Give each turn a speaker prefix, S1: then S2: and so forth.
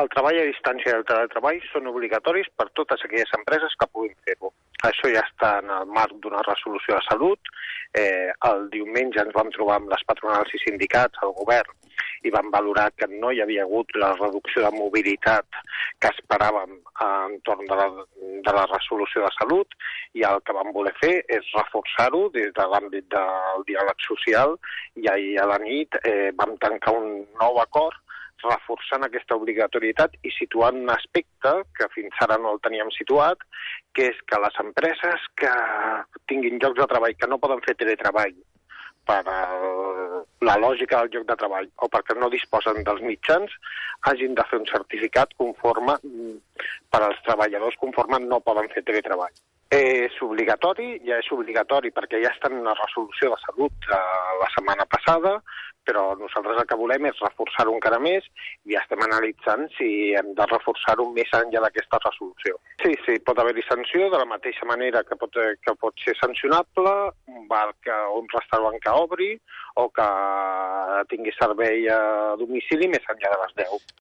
S1: el treball a distància i el teletreball són obligatoris per totes aquelles empreses que puguin fer-ho. Això ja està en el marc d'una resolució de salut. El diumenge ens vam trobar amb les patronals i sindicats, el govern, i vam valorar que no hi havia hagut la reducció de mobilitat que esperàvem entorn de la resolució de salut, i el que vam voler fer és reforçar-ho des de l'àmbit del diàleg social, i ahir a la nit vam tancar un nou acord reforçant aquesta obligatorietat i situant un aspecte que fins ara no el teníem situat, que és que les empreses que tinguin llocs de treball que no poden fer teletreball per la lògica del lloc de treball o perquè no disposen dels mitjans, hagin de fer un certificat conforme per als treballadors conforme no poden fer teletreball. És obligatori, ja és obligatori perquè ja està en una resolució de salut la setmana passada, però nosaltres el que volem és reforçar-ho encara més i estem analitzant si hem de reforçar-ho més enllà d'aquesta resolució. Sí, pot haver-hi sanció de la mateixa manera que pot ser sancionable un bar o un restaurant que obri o que tingui servei a domicili més enllà de les 10.